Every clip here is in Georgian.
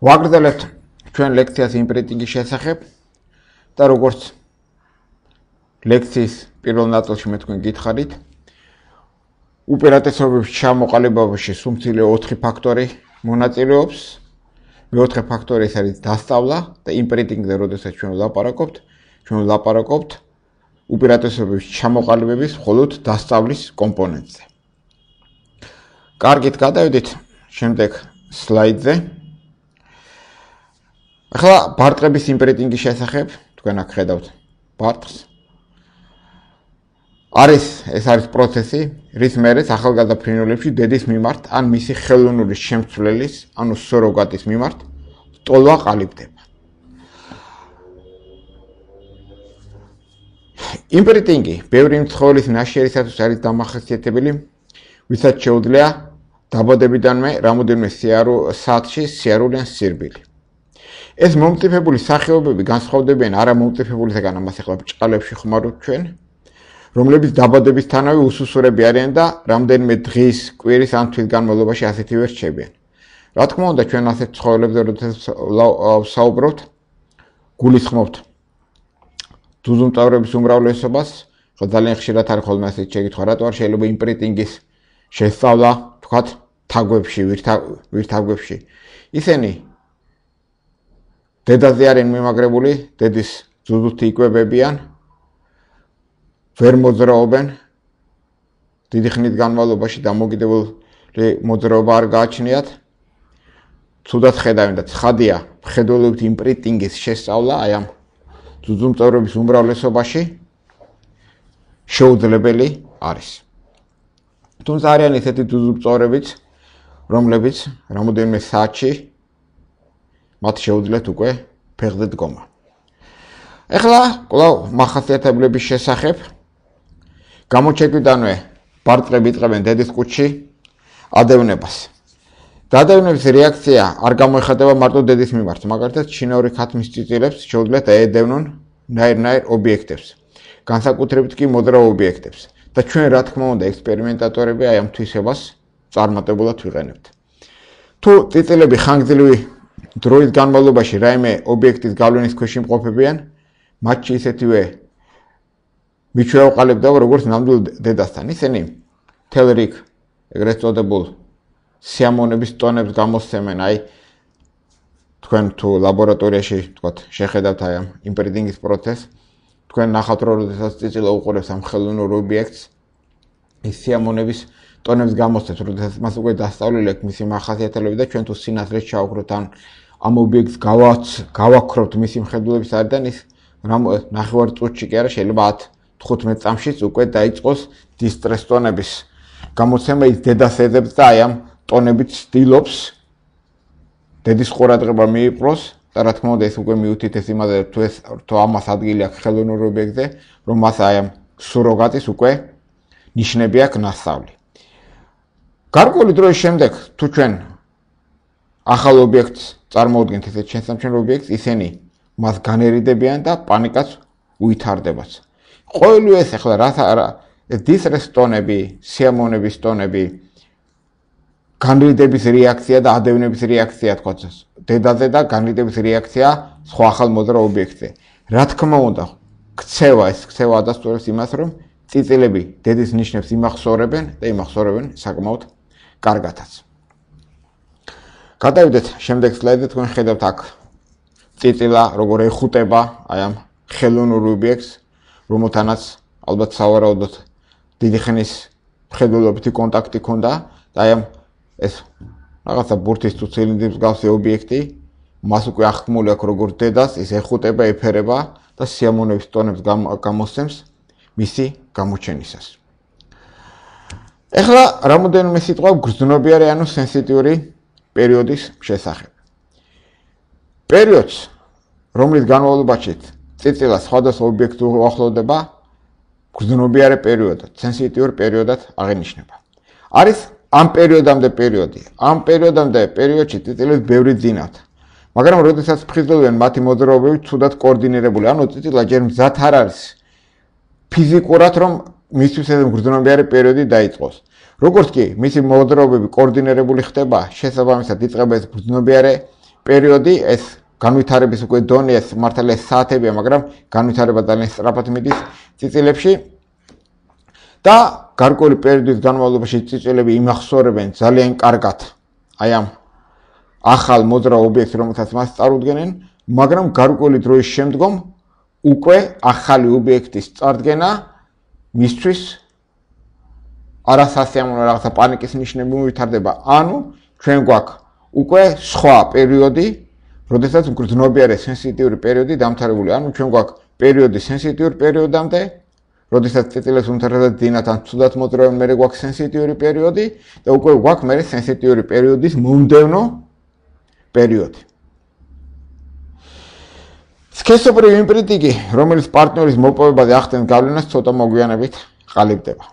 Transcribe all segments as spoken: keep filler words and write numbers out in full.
ვაგრძელებთ ჩვენ ლექციას იმპრინტინგის შესახებ და როგორც ლექციის პირველ ნაწილში მე თქვენ გითხარით, უპირატესობების ჩამოყალიბებაში სუმცილე ოთხი ფაქტორი მონაწილეობს. მეოთხე ფაქტორი ეს არის დასწავლა და იმპრინტინგზე როდესაც ჩვენ ვლაპარაკობთ, ჩვენ ვლაპარაკობთ უპირატესობების ჩამოყალიბების მხოლოდ დასწავლის კომპონენტზე. კარგით, გადავიდეთ შემდეგ სლაიდზე. ახლა ბარტყების იმპრინტინგის შესახებ თქვენ აქ ხედავთ ბარტყს. არის ეს არის პროცესი, რის მერეც ახალგაზრდა ფრინველებში დედის მიმართ ან მისი ხელოვნური შემცვლელის, ანუ სუროგატის მიმართ ტოლვა ყალიბდება. იმპრინტინგი ბევრი მცხოვრის ნაშიერისათვის არის დამახასიათებელი, ვისაც შეუძლია დაბადებიდანვე რამოდენიმე საათში სიარული ან სირბილი. ეს მომწიფებული სახეობები განსხვავდებიან არა მომწიფებულისგან, ამას ახლა ბრჭყალებში ხმარობთ ჩვენ, რომლებიც დაბადებისთანავე უსუსურები არიან და რამდენიმე დღის, კვირის ან თვის განმავლობაში ასეთივე რჩებიან. რა თქმა უნდა, ჩვენ ასეთ ცხოველებზე როდესაც ვსაუბრობთ, გულისხმობთ ძუძუმწოვრების უმრავლესობას, ხო ძალიან ხშირად არის ხოლმე ასეთი შეკითხვა, რატო არ შეიძლება იმპრინტინგის შესწავლა, თქვათ, თაგვებში, ვირთაგვებში. ისინი დედაზე არიან მიმაგრებული, დედის ძუძუთ იკვებებიან, ვერ მოძრაობენ, დიდი ხნის განმავლობაში დამოკიდებული მოძრაობა არ გააჩნიათ. ცუდად ხედავენ და ცხადია, მხედველობით იმპრინტინგის შესწავლა აი ამ ძუძუმწოვრების უმრავლესობაში შეუძლებელი არის. თუმცა არიან ისეთი ძუძუმწოვრებიც, რომლებიც რამოდენიმე საათში მათ შეუძლიათ უკვე ფეხზე დგომა. ეხლა კვლავ მახასიათებლების შესახებ გამოჩეკვიდანვე ბარტყები იწყებენ დედის კუჭში ადევნებას. დადევნების რეაქცია არ გამოიხატება მარტო დედის მიმართ, მაგალითად, ჩინური ქათმის წიწილებს შეუძლიათ აედევნონ ნაირ-ნაირ ობიექტებს, განსაკუთრებით კი მოძრავ ობიექტებს და ჩვენ რა თქმა უნდა ექსპერიმენტატორები აი ამ თვისებას წარმატებულად ვიყენებთ. თუ წიწილები ხანგრძლივი დროის განმავლობაში რაიმე ობიექტის გავლენის ქვეშ იმყოფებიან, მათში ისეთივე მიჩვევა ყალიბდება როგორც ნამდვილ დედასთან. ისინი მთელ რიგ ეგრეთ წოდებულ სიამონების ტონებს გამოსცემენ, აი თქვენ თუ ლაბორატორიაში თქვათ შეხედავთ აი ამ იმპრინტინგის პროცესს, თქვენ ნახავთ რომ როდესაც წიწილა უყურებს ამ ხელოვნურ ობიექტს, ის სიამონების ტონებს გამოსცემს, როდესაც მას უკვე დასწავლილი აქვს მისი მახასიათებლები და ჩვენ თუ სინათლეს ჩავკროთ ან ამ ობიექტს გავაქრობთ მისი მხედველობის არიდან, ის ნახევარ წუთში კი არა, შეიძლება ათ თხუთმეტ წამშიც უკვე დაიწყოს დისტრეს ტონების გამოცემა, ის დედას ეძებს და აი ამ ტონებით ცდილობს დედის ყურადღება მიიპყროს და რა თქმა უნდა ეს უკვე მიუთითებს იმაზე, თუ ეს თუ ამას ადგილი აქვს ხელოვნურ ობიექტზე, რომ მას აი ამ სუროგატის უკვე ნიშნები აქვს ნასწავლი. გარკვეული დროის შემდეგ, თუ ჩვენ ახალ ობიექტს წარმოუდგენთ ესეთ შესამჩნევ ობიექტს, ისინი მას განერიდებიან და პანიკაც უითარდებათ. ყოველივე ეს ახლა რა ეს დისტრეს ტონები, სიამონების ტონები, განრიდების რეაქცია და ადევნების რეაქცია თქვა დედაზე და განრიდების რეაქცია სხვა ახალ მოძრავ ობიექტზე. რა თქმა უნდა, ქცევა ეს ქცევა ადასტურებს იმას, რომ წიწილები დედის ნიშნებს იმახსოვრებენ და იმახსოვრებენ საკმაოდ კარგათაც. გადავიდეთ შემდეგ სლაიდზე, თქვენ ხედავთ აქ წიწილა როგორ ეხუტება აი ამ ხელოვნურ ობიექტს, რომელთანაც ალბათ სავარაუდოდ დიდი ხნის მხედველობითი კონტაქტი ჰქონდა და აი ამ ეს რაღაცა ბურთის თუ ცილინდრის მსგავსი ობიექტი მას უკვე აღქმული აქვს როგორც დედას, ის ეხუტება, ეფერება და სიამონების ტონებს გამოსცემს მისი გამოჩენისას. ეხლა რამოდენიმე სიტყვა გრძნობიარე ანუ სენსიტიური პერიოდის შესახებ. პერიოდს, რომლის განმავლობაში წიწილა სხვადასხვა ობიექტს უახლოვდება, გრძნობიარე პერიოდად, სენსიტიურ პერიოდად აღინიშნება. არის ამ პერიოდამდე პერიოდი. ამ პერიოდამდე პერიოდში წიწილებს ბევრი ძინავთ. მაგრამ როდესაც ფხიზლობენ მათი მოძრაობები ცუდად კოორდინირებული, ანუ წიწილა ჯერ მზად არ არის ფიზიკურად, რომ მისთვის ეს გრძნობიარე პერიოდი დაიწყოს. როგორც კი მისი მოძრაობები კოორდინირებული ხდება, შესაბამისად იწყება ეს გრძნობიარე პერიოდი, ეს განვითარების უკვე დონე, ეს მართალია საათებია, მაგრამ განვითარება ძალიან სწრაფად მიდის წიწილებში. და გარკვეული პერიოდის განმავლობაში წიწილები იმახსოვრებენ ძალიან კარგად აი ამ ახალ მოძრავ ობიექტს, რომელსაც მას წარუდგენენ, მაგრამ გარკვეული დროის შემდგომ უკვე ახალი ობიექტის წარდგენა მისთვის არასასიამოვნო რაღაცა პანიკის ნიშნები მოვითარდება. ანუ ჩვენ გვაქვს უკვე სხვა პერიოდი, როდესაც მგრძნობიარე სენსიტიური პერიოდი დამთავრებული. ანუ ჩვენ გვაქვს პერიოდი სენსიტიურ პერიოდამდე, როდესაც წიწილებს უმთავრესად დინათ ან ცუდად მოძრავენ, მერე გვაქვს სენსიტიური პერიოდი და უკვე გვაქვს მერე სენსიტიური პერიოდის მომდევნო პერიოდი. სქესობრივი იმპრინტინგი, რომელიც პარტნიორის მოპოვებაზე ახდენს გავლენას, ცოტა მოგვიანებით ყალიბდება.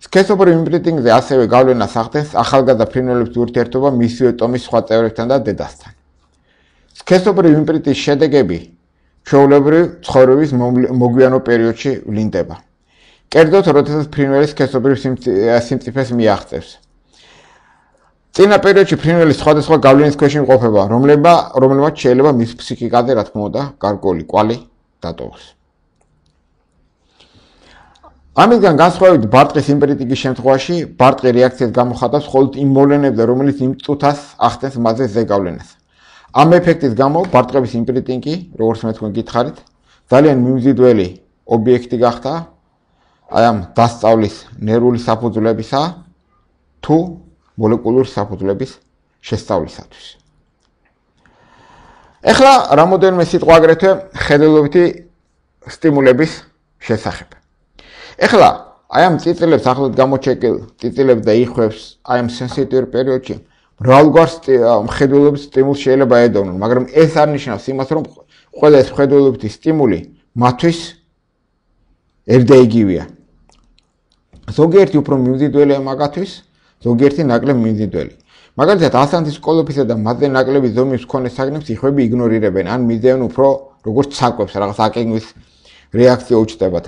სქესობრივ იმპრინტინგზე ასევე გავლენას ახდენს ახალგაზრდა ფრინველების ურთიერთობა მისივე ტომის სხვა წევრებთან და დედასთან. სქესობრივ იმპრინტის შედეგები ჩვეულებრივ ცხოვრების მოგვიანო პერიოდში ვლინდება. კერძოდ, როდესაც ფრინველი სქესობრივ სიმწიფეს მიაღწევს. წინა პერიოდში ფრინველი სხვადასხვა გავლენის ქვეშ იმყოფება, რომლებმაც შეიძლება მის ფსიქიკაზე, რა თქმა უნდა, გარკვეული კვალი დატოვოს. ამისგან განსხვავებით, ბარტყის იმპრინტინგის შემთხვევაში, ბარტყი რეაქციას გამოხატავს მხოლოდ იმ მოვლენებზე, რომელიც იმ წუთას ახდენს მასზე ზეგავლენას. ამ ეფექტის გამო ბარტყების იმპრინტინგი, როგორც მე თქვენ გითხარით, ძალიან მიმზიდველი ობიექტი გახდა აი ამ დასწავლის ნერვული საფუძვლებისა თუ მოლეკულური საფუძვლების შესწავლისათვის. ეხლა რამოდენიმე სიტყვა აგრეთვე ხედელობითი სტიმულების შესახებ. ეხლა აი ამ წიწილებს ახლად გამოჩეკილ წიწილებს და იხვებს აი ამ სენსიტიურ პერიოდში მრავალგვარ ხედველობის სტიმულს შეიძლება ედოვნონ, მაგრამ ეს არ ნიშნავს იმას, რომ ყველა ეს ხედველობითი სტიმული მათთვის ერთდაიგივეა. ზოგიერთი უფრო მიმზიდველია მაგათვის, ზოგიერთი ნაკლებ მიმზიდველი. მაგალითად, ასანთის კოლოფისა და მასზე ნაკლები ზომის მქონე საგნებს იხვები იგნორირებენ, ან მისდევენ უფრო როგორც საკვებს, რაღაც აკენგვის რეაქცია უჩნდებათ.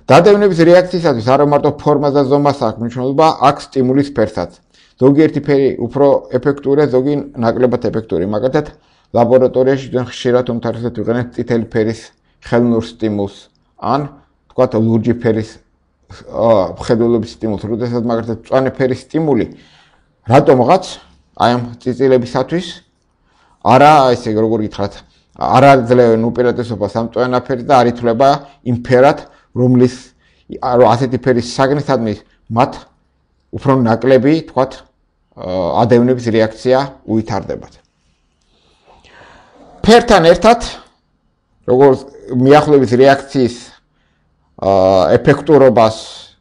დადევნების რეაქციისათვის არა მარტო ფორმას და ზომას აქვს მნიშვნელობა, აქვს სტიმულის ფერსაც. ზოგიერთი ფერი უფრო ეფექტურია, ზოგი ნაკლებად ეფექტური. მაგალითად, ლაბორატორიაში ჩვენ ხშირად უმთავრესად ვიყენებთ წითელი ფერის ხელნურ სტიმულს, ან თქვათ ლურჯი ფერის ხედველობის სტიმულს, როდესაც მაგალითად მწვანე ფერის სტიმული რატომღაც აი ამ წიწილებისათვის არა ესე როგორ გითხრათ, არ აძლევენ უპირატესობას ამ მწვანაფერს და არ ითვლება იმ ფერად, რომლის ასეთი ფერის საგნისადმი მათ უფრო ნაკლები, თქვათ, ადევნების რეაქცია უვითარდებათ. ფერთან ერთად, როგორც მიახლოების რეაქციის ეფექტურობას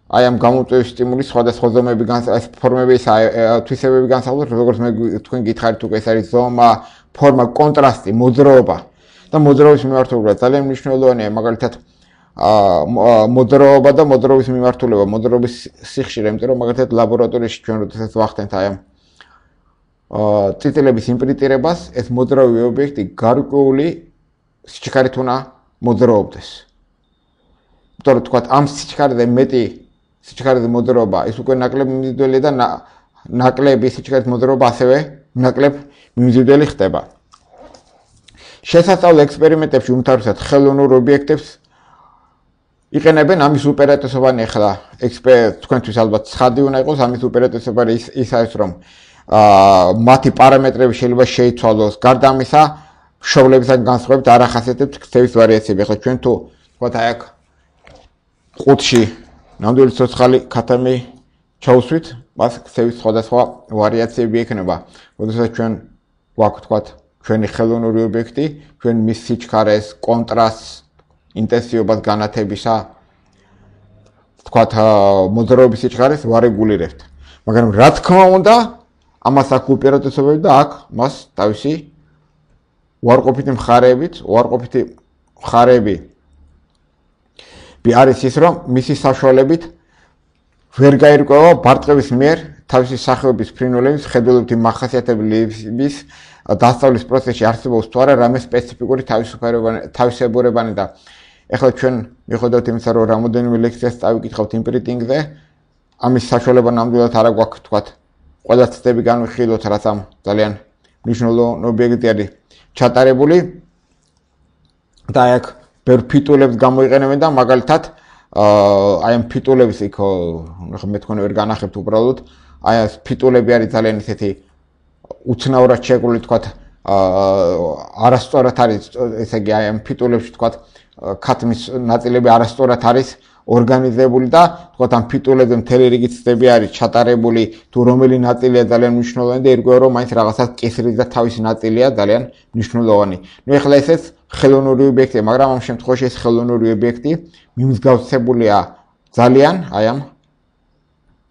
აი ამ გამოწვევის სტიმულის სხვადასხვა ზომები ფორმების თვისებები განსაზღვრავს, როგორც მე თქვენ გითხარით, უკვე ეს არის ზომა, ფორმა, კონტრასტი, მოძრაობა და მოძრაობის მიმართულება ძალიან მნიშვნელოვანია, მაგალითად მოძრაობა და მოძრაობის მიმართულება, მოძრაობის სიხშირე, იმიტომ რომ მაგალითად ლაბორატორიაში ჩვენ როდესაც ვახდენთ აი ამ წიწილების იმპრინტირებას, ეს მოძრავი ობიექტი გარკვეული სიჩქარით უნდა მოძრაობდეს. იმიტომ რომ თქვათ ამ სიჩქარეზე მეტი სიჩქარეზე მოძრაობა, ეს უკვე ნაკლებ მიმზიდველი და ნაკლები სიჩქარით მოძრაობა ასევე ნაკლებ მიმზიდველი ხდება. შესასწავლ ექსპერიმენტებში უმთავრესად ხელოვნურ ობიექტებს იყენებენ ამის უპირატესობანი ახლა თქვენთვის ალბათ ცხადი უნდა იყოს, ამის უპირატესობანი ის არის, რომ მათი პარამეტრები შეიძლება შეიცვალოს. გარდა ამისა, მშობლებისგან განსხვავებით არ ახასიათებთ ქცევის ვარიაციები. ახლა ჩვენ თუ თქვათ აი აქ ყუთში ნამდვილი ცოცხალი ქათამი ჩაუსვით, მას ქცევის სხვადასხვა ვარიაციები ექნება. როდესაც ჩვენ გვაქვს თქვათ ჩვენი ხელოვნური ობიექტი, ჩვენ მის სიჩქარეს, კონტრასტს, ინტენსივობას განათებისა, თქვათ მოძრაობის სიჩქარეს ვარეგულირებთ. მაგრამ რა თქმა უნდა, ამას აქვს უპირატესობები და აქვს მას თავისი უარყოფითი მხარეებით, უარყოფითი მხარეები არის ის, რომ მისი საშუალებით ვერ გაირკვევა ბარტყების მიერ თავისი სახეობის ფრინველების ხედველობითი მახასიათებლების დასწავლის პროცესში არსებობს თუ არა რამე სპეციფიკური თავისებურებანი და ეხლა ჩვენ მიხედავთ იმისა, რომ რამოდენიმე ლექციას წავიკითხავთ იმპრინტინგზე, ამის საშუალება ნამდვილად არ აქვს, თქვათ, ყველა ცდები განვიხილოთ, რაც ამ ძალიან მნიშვნელოვანი ობიექტი არის. ჩატარებული და აქ ბევრ ფიტულებს გამოიყენებენ და მაგალითად აი ამ ფიტულების იქ მე თქვენ ვერ განახებთ უბრალოდ აი ეს ფიტულები არის ძალიან ისეთი უცნაურად შეგული თქვათ არასწორად არის ესე იგი აი ამ ფიტულებში თქვათ ქათმის ნაწილები არასწორად არის ორგანიზებული და თქვათ ამ ფიტულებზე მთელი რიგი ცდები არის ჩატარებული თუ რომელი ნაწილია ძალიან მნიშვნელოვანი და ერგო რომ მაინც რაღაცას კისრის და თავის ნაწილია ძალიან მნიშვნელოვანი. ნუ ეხლა ესეც ხელოვნური ობიექტია, მაგრამ ამ შემთხვევაში ეს ხელოვნური ობიექტი მიმსგავსებულია ძალიან აი ამ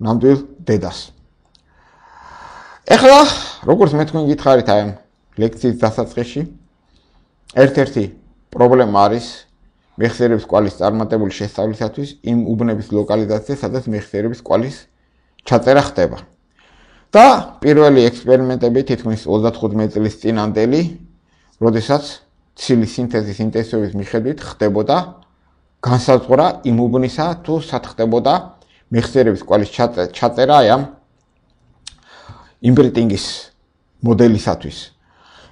ნამდვილ დედას. ეხლა როგორც მე თქვენ გითხარით აი ამ ლექციის დასაწყისში ერთ-ერთი პრობლემა არის მეხსიერების კვალის წარმატებული შესწავლისათვის იმ უბნების ლოკალიზაცია, სადაც მეხსიერების კვალის ჩაწერა ხდება. და პირველი ექსპერიმენტები თითქმის ოცდათხუთმეტი წლის წინანდელი, როდესაც ცილის სინთეზის ინტენსივობის მიხედვით ხდებოდა განსაზღვრა იმ უბნისა თუ სად ხდებოდა მეხსიერების კვალის ჩაწერა აი ამ იმპრინტინგის მოდელისათვის.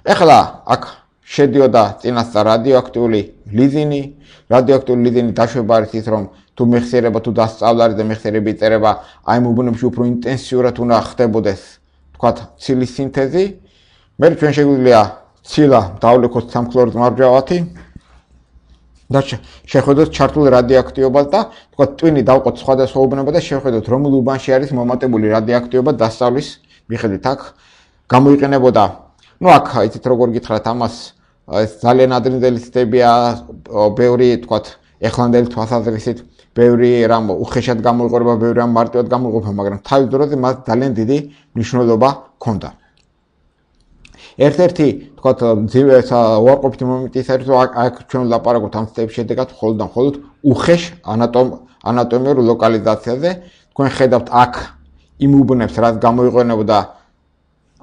ეხლა აქ შედიოდა წინასწარ რადიოაქტიული ლიზინი, რადიოაქტიული ლიზინი დაშვება არის ის, რომ თუ მეხსიერება თუ დასწავლა არის და მეხსიერები იწერება, აი ამ უბნებში უფრო ინტენსიურად უნდა ხდებოდეს, თქვათ, ცილის სინთეზი. მე ჩვენ შეგვიძლია ცილა დავლექოთ სამხლორო მარჯვავათი და შეხედოთ ჩართულ რადიოაქტიობას და თქვათ, ტვინი დავყოთ სხვადასხვა უბნებად და შეხედოთ, რომელ უბანში არის მომატებული რადიოაქტიობა დასწავლის მიხედვით. აქ გამოიყენებოდა, ну აქ იცით როგორ გითხრათ ამას ეს ძალიან ადრინდელი ცდებია, ბევრი თქვათ ეხლანდელი თვალსაზრისით, ბევრი რამ უხეშად გამოიყურება, ბევრი რამ მარტივად გამოიყურება, მაგრამ თავის დროზე მას ძალიან დიდი მნიშვნელობა ჰქონდა. ერთ-ერთი თქვათ უარყოფითი მომენტი ის არის, რომ აქ ჩვენ ვლაპარაკობთ ამ ცდების შედეგად მხოლოდ და მხოლოდ უხეშ ანატომიურ ლოკალიზაციაზე. თქვენ ხედავთ აქ იმ უბნებს, რაც გამოიყენებოდა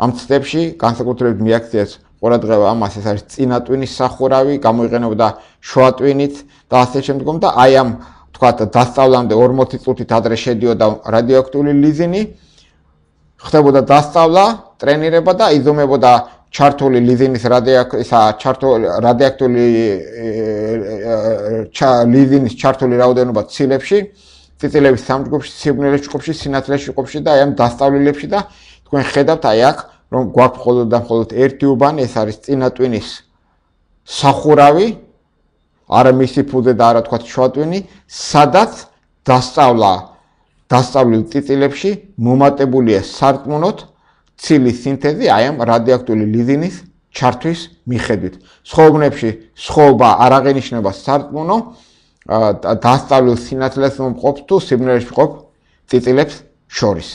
ამ ცდებში, განსაკუთრებით მიაქციეს ყურადღება ამას, ეს არის წინა ტვინის სახურავი, გამოიყენებოდა შუა ტვინით და ასე შემდგომ და აი ამ თქვათ დასწავლამდე ორმოცი წუთით ადრე შედიოდა რადიოაქტიული ლიზინი, ხდებოდა დასწავლა, ტრენირება და იზომებოდა ჩართული ლიზინის რადიოაქტიული ლიზინის ჩართული რაოდენობა ცილებში, წიწილების სამ ჯგუფში, სიბნელის ჯგუფში, სინათლეში ჯგუფში და აი ამ დასწავლილებში და თქვენ ხედავთ აი აქ რომ გვაქვს მხოლოდ და მხოლოდ ერთი უბანი, ეს არის წინა ტვინის სახურავი, არა მისი ფუძე და არა თქვათ შუა ტვინი, სადაც დასწავლა დასწავლილ წიწილებში მომატებულია სარწმუნოდ ცილის სინთეზი აი ამ რადიოაქტიული ლიზინის ჩართვის მიხედვით. სხვა უბნებში სხვაობა არ აღენიშნება სარწმუნო დასწავლილ სინათლეს მომყოფ თუ სიბნელეში მყოფ წიწილებს შორის.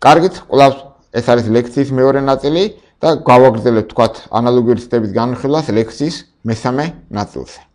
კარგით, კვლავ ეს არის ლექციის მეორე ნაწილი და გავაგრძელებთ თქვათ ანალოგიური ცდების განხილვას ლექციის მესამე ნაწილზე.